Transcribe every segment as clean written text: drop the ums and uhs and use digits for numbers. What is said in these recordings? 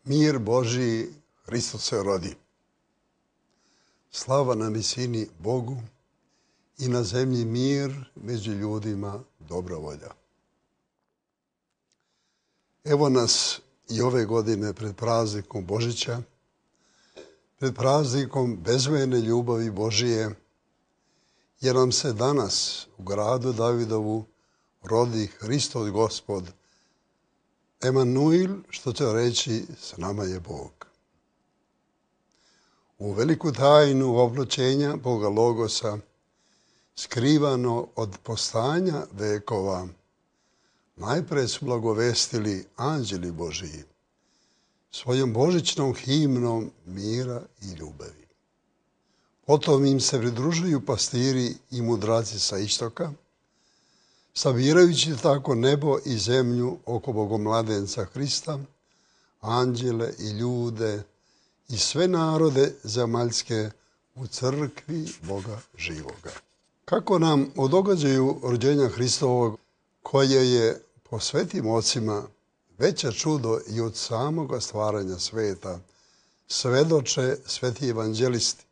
Mir Božiji, Hristos se rodi. Slava na visini Bogu i na zemlji mir, među ljudima dobra volja. Evo nas i ove godine pred praznikom Božića, pred praznikom bezmerne ljubavi Božije, jer nam se danas u gradu Davidovu rodi Hristos Gospod, Emanuil, što će reći s nama je Bog. U veliku tajnu obločenja Boga Logosa, skrivano od postanja vekova, najpre su blagovestili anđeli Božiji, svojom božićnom himnom mira i ljubavi. Potom im se pridružuju pastiri i mudraci sa istoka, sabirajući tako nebo i zemlju oko Bogomladenca Hrista, anđele i ljude i sve narode zemaljske u crkvi Boga živoga. Kako nam o događaju rođenja Hristovog, koje je po svetim ocima veće čudo i od samoga stvaranja sveta, svedoče sveti evanđelisti,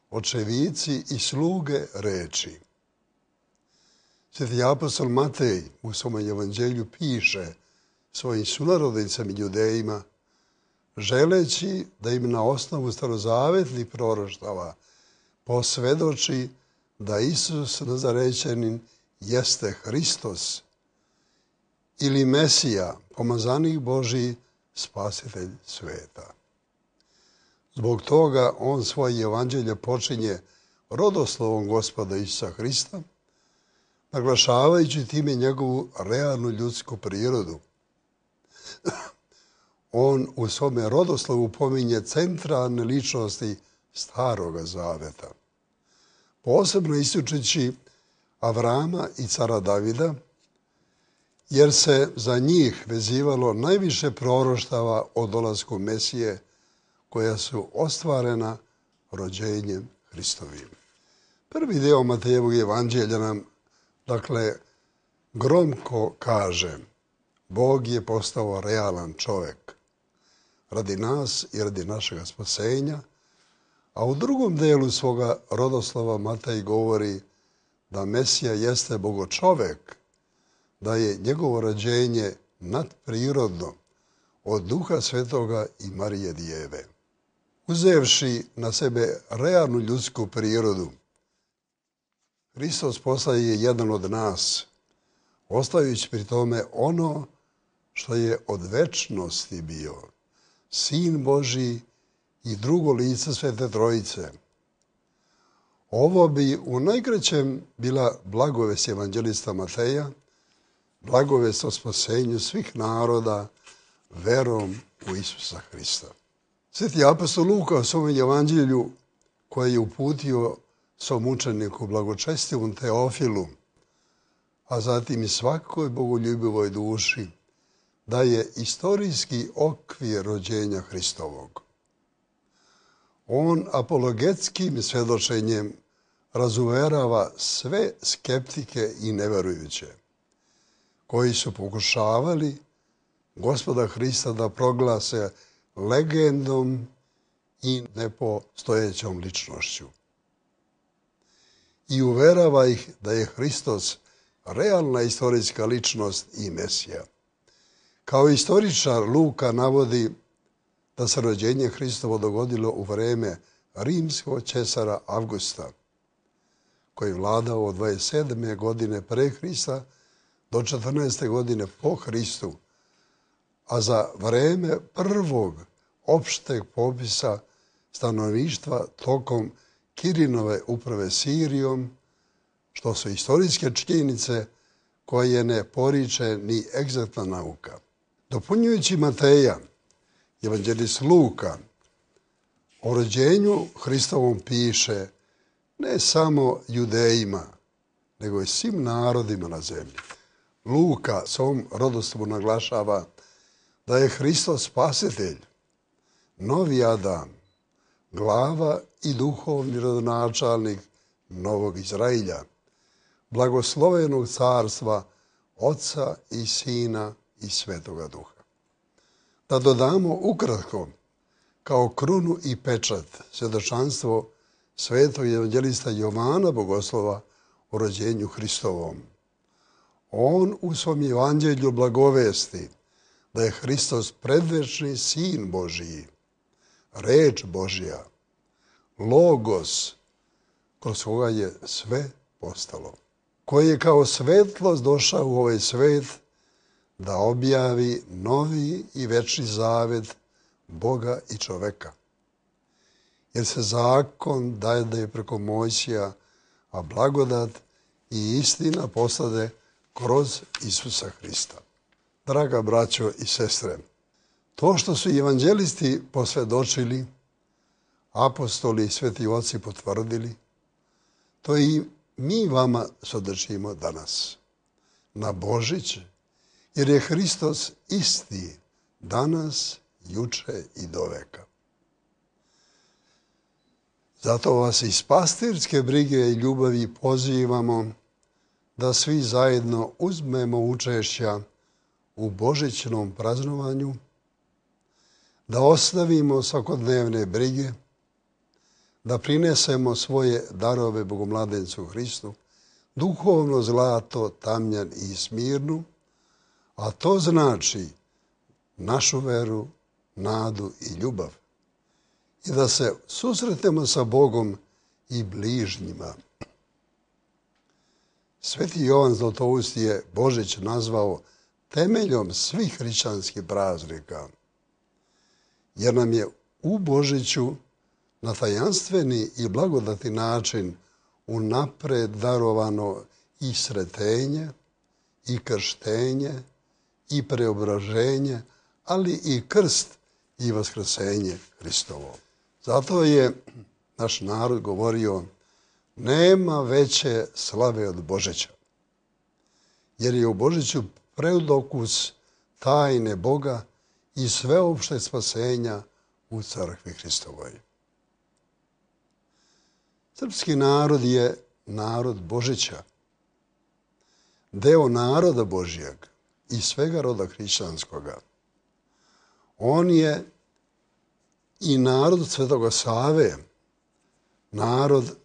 očevici i sluge reči. Sveti apostol Matej u svom evanđelju piše svojim sunarodnicama i judejima, želeći da im na osnovu starozavetnih proroštava posvedoči da Isus Nazarećanin jeste Hristos ili Mesija, pomazanik Božiji, spasitelj sveta. Zbog toga on svoje evanđelje počinje rodoslovom Gospoda Isusa Hrista, naglašavajući time njegovu realnu ljudsku prirodu. On u svome rodoslovu pominje centralne ličnosti Staroga Zaveta, posebno ističući Avrama i cara Davida, jer se za njih vezivalo najviše proroštava o dolasku Mesije, koja su ostvarena rođenjem Hristovim. Prvi deo Matejevog evanđelja nam, gromko kaže, Bog je postao realan čovjek radi nas i radi našega spasenja, a u drugom delu svoga rodoslova Matej govori da Mesija jeste bogočovek, da je njegovo rođenje nadprirodno od Duha Svetoga i Marije Djeve. Uzevši na sebe realnu ljudsku prirodu, Hristos postaje jedan od nas, ostajući pri tome ono što je od večnosti bio, Sin Božiji i drugo lice Svete Trojice. Ovo bi u najkraćem bila blagovest evanđelista Mateja, blagovest o spasenju svih naroda verom u Isusa Hrista. Sveti apostol Luka u svom evanđelju, koji je uputio svom učeniku blagočestivom Teofilu, a zatim i svakoj bogoljubivoj duši, da je istorijski okvir rođenja Hristovog. On apologetskim svjedočenjem razuverava sve skeptike i neverujuće, koji su pokušavali Gospoda Hrista da proglase legendom i nepostojećom ličnošću. I uverava ih da je Hristos realna istorijska ličnost i Mesija. Kao istoričar Luka navodi da se rođenje Hristovo dogodilo u vreme rimskog cesara Avgusta, koji je vladao od 27. godine pre Hrista do 14. godine po Hristu, a za vreme prvog opšteg popisa stanovništva tokom Kirinove uprave Sirijom, što su istorijske činjenice koje ne poriče ni egzaktna nauka. Dopunjujući Mateja, evanđelist Luka o rođenju Hristovom piše ne samo judejima, nego i svim narodima na zemlji. Luka svom rodoslovu naglašava da je Hristos spasitelj, novi Adam, glava i duhovni rodonačelnik novog Izrailja, blagoslovenog carstva Oca i Sina i Svetoga Duha. Da dodamo ukratko, kao krunu i pečat, svjedočanstvo svetog evanđelista Jovana Bogoslova o rođenju Hristovom. On u svom evanđelju blagovesti da je Hristos predvečni Sin Božiji, reč Božja, logos, kroz koga je sve postalo, koji je kao svetlost došao u ovaj svet da objavi novi i večni zavet Boga i čoveka. Jer se zakon daje preko Mojsija, a blagodat i istina poslade kroz Isusa Hrista. Draga braćo i sestre, to što su evanđelisti posvjedočili, apostoli i sveti oci potvrdili, to i mi vama svjedočimo danas, na Božić, jer je Hristos isti danas, juče i doveka. Zato vas iz pastirske brige i ljubavi pozivamo da svi zajedno uzmemo učešća u božićnom praznovanju, da ostavimo svakodnevne brige, da prinesemo svoje darove Bogomladencu Hristu, duhovno zlato, tamjan i smirnu, a to znači našu veru, nadu i ljubav. I da se susretnemo sa Bogom i bližnjima. Sveti Jovan Zlatoust je Božić nazvao temeljom svih hrišćanskih praznika, jer nam je u Božiću na tajanstveni i blagodati način unapred darovano i sretenje, i krštenje, i preobraženje, ali i krst i vaskrsenje Hristovo. Zato je naš narod govorio: nema veće slave od Božića, jer je u Božiću predokus tajne Boga i sveopšte spasenja u crkvi Hristovoj. Srpski narod je narod Božića, deo naroda Božjeg i svega roda hrišćanskoga. On je i narod Svetoga Save, narod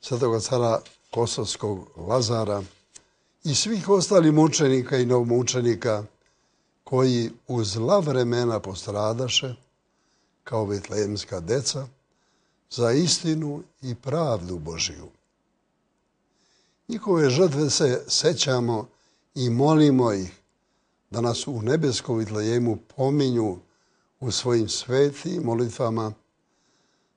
Svetoga cara Kosovskog Lazara i svih ostalih mučenika i novomučenika koji u zla vremena postradaše kao betlejemska deca za istinu i pravdu Božiju. Njihove žrtve se sećamo i molimo ih da nas u nebeskom Vitlejemu pominju u svojim svetim molitvama,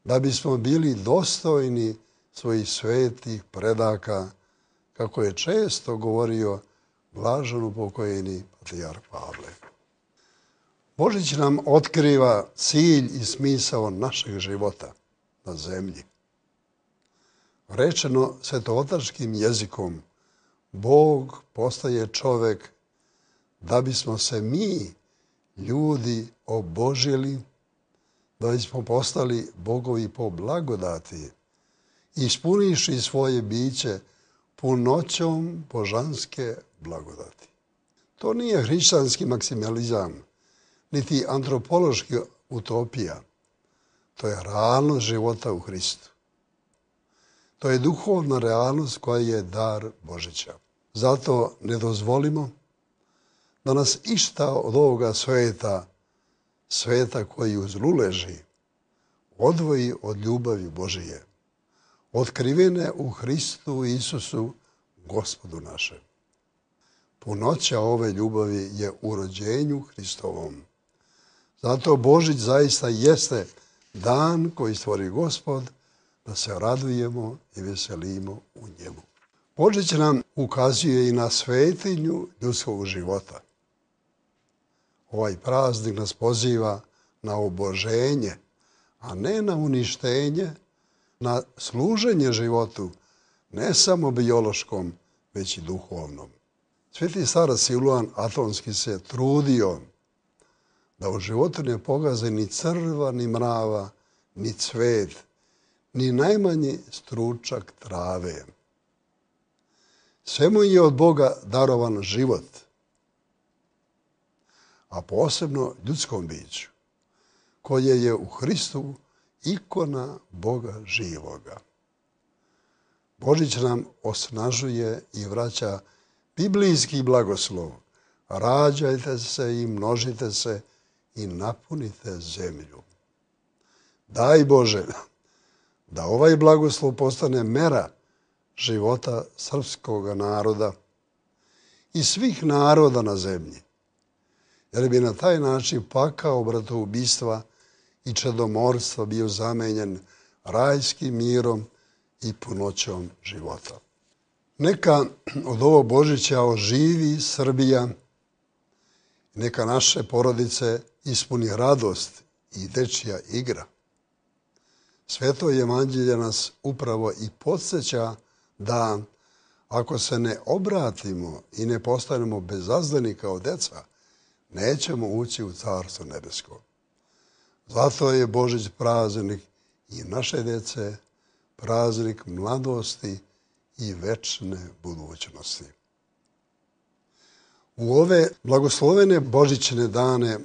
da bismo bili dostojni svojih svetih predaka, kako je često govorio blaženopokojeni patrijarh Pavle. Božić nam otkriva cilj i smisao našeg života na zemlji. Rečeno svetootačkim jezikom, Bog postaje čovek da bismo se mi, ljudi, obožili, da bismo postali bogovi po blagodati, ispuniši svoje biće punoćom božanske blagodati. To nije hrišćanski maksimalizam, niti antropološki utopija. To je realnost života u Hristu. To je duhovna realnost koja je dar Božića. Zato ne dozvolimo da nas išta od ovoga sveta koji u zlu leži, odvoji od ljubavi Božije, otkrivene u Hristu Isusu, Gospodu našem. Punoća ove ljubavi je u rođenju Hristovom. Zato Božić zaista jeste dan koji stvori Gospod, da se radujemo i veselimo u njemu. Božić nam ukazuje i na svetinju ljudskog života. Ovaj praznik nas poziva na oboženje, a ne na uništenje, na služenje životu, ne samo biološkom, već i duhovnom. Sveti starac Siluan Atonski se trudio da u životu ne pogaze ni crva, ni mrava, ni cvet, ni najmanji stručak trave. Sve mu je od Boga darovan život, a posebno ljudskom biću, koje je u Hristu ikona Boga živoga. Božić nam osnažuje i vraća biblijski blagoslov. Rađajte se i množite se i napunite zemlju. Daj Bože da ovaj blagoslov postane mera života srpskog naroda i svih naroda na zemlji, jer bi na taj način pakao bratoubistva i čedomorstva bio zamenjen rajskim mirom i punoćom života. Neka od ovog Božića oživi Srbija, neka naše porodice ispuni radost i dečija igra. Sveto evanđelje nas upravo i podsjeća da ako se ne obratimo i ne postanemo bezazdani kao deca, nećemo ući u Carstvo nebesko. Zato je Božić praznik i naše dece, praznik mladosti i večne budućnosti. U ove blagoslovene božićne dane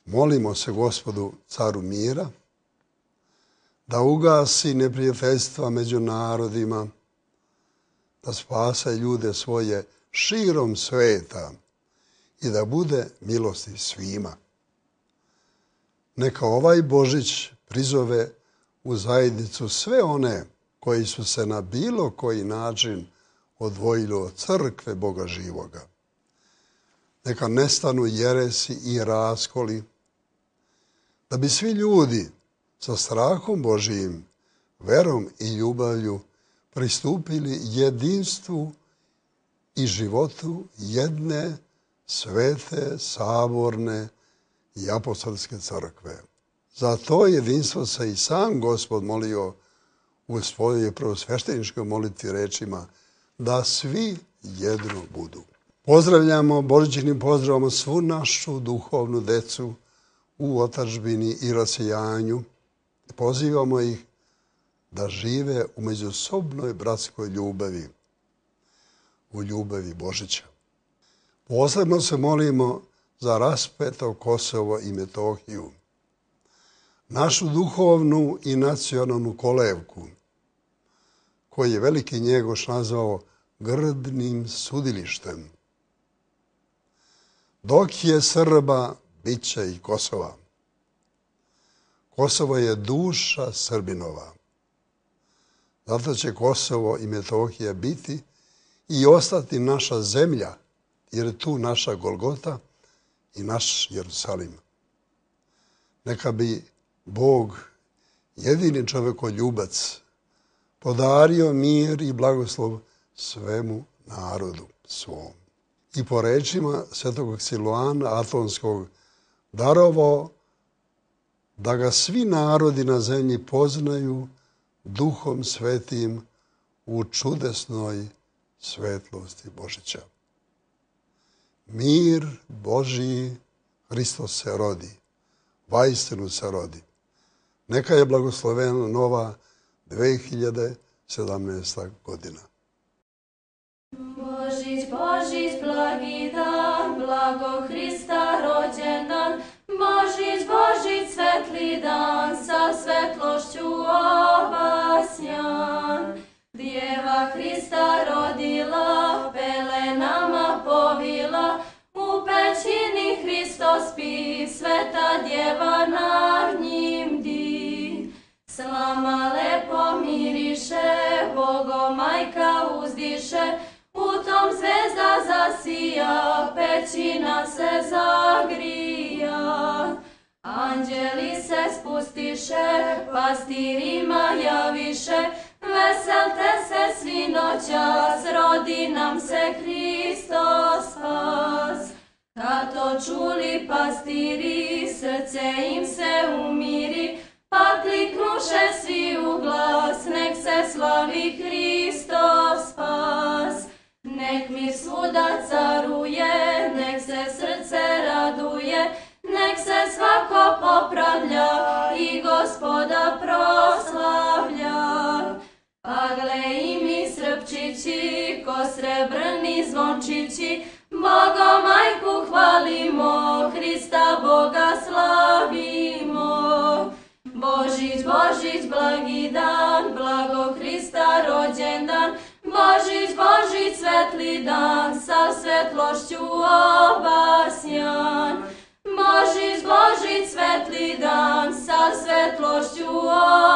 molimo se Gospodu, caru mira, da ugasi neprijateljstva među narodima, da spase ljude svoje širom sveta i da bude milosti svima. Neka ovaj Božić prizove u zajednicu sve one koji su se na bilo koji način odvojili od crkve Boga živoga. Neka nestanu jeresi i raskoli, da bi svi ljudi sa strahom Božijim, verom i ljubavlju pristupili jedinstvu i životu jedne svete, saborne i apostolske crkve. Za to jedinstvo se i sam Gospod molio u svojoj prvosvešteničkoj molitvi rečima da svi jedno budu. Pozdravljamo božićnim pozdravom svu našu duhovnu decu u otadžbini i rasijanju. Pozivamo ih da žive u međusobnoj bratskoj ljubavi, u ljubavi Božića. Posebno se molimo za raspeto Kosovo i Metohiju, našu duhovnu i nacionalnu kolevku, koji je veliki Njegoš nazvao grdnim sudilištem. Dok je Srba, bit će i Kosova. Kosovo je duša Srbinova. Zato će Kosovo i Metohija biti i ostati naša zemlja, jer je tu naša Golgota i naš Jerusalim. Neka bi Bog, jedini čovekoljubac, podario mir i blagoslov svemu narodu svom. I po rečima svetog Siluana Atonskog darovao da ga svi narodi na zemlji poznaju Duhom Svetim u čudesnoj svetlosti Božića. Mir Božiji, Hristos se rodi, vaistinu se rodi. Neka je blagoslovena nova 2017. godina. Božić, Božić, blagi dan, blago Hrista rođendan. Božić, Božić, svetli dan, sa svetlošću obasjan. Djeva Hrista rodila, pelenama povila, u pećini Hristos spi, sveta djeva nad njim di. Slama lepo miriše, Bogo majka uzdiše, u tom zvezda zasija, pećina se zagrija. Anđeli se spustiše, pastirima javiše, veselte se svi noćas, rodi nam se Hristos spas. Kad to čuli pastiri, srce im se umiri, pa kliknuše svi u glas, nek se slavi Hristos spas. Nek mir svuda caruje, nek se srce raduje, nek se svako popravlja i Gospoda proslavlja. Pa gle i mi srpčići, ko srebrni zvončići, Bogo majku hvalimo, Božić, blagi dan, blago Hrista rođendan, Božić, Božić, svetli dan, sa svetlošću obasjan. Božić, Božić, svetli dan, sa svetlošću obasjan.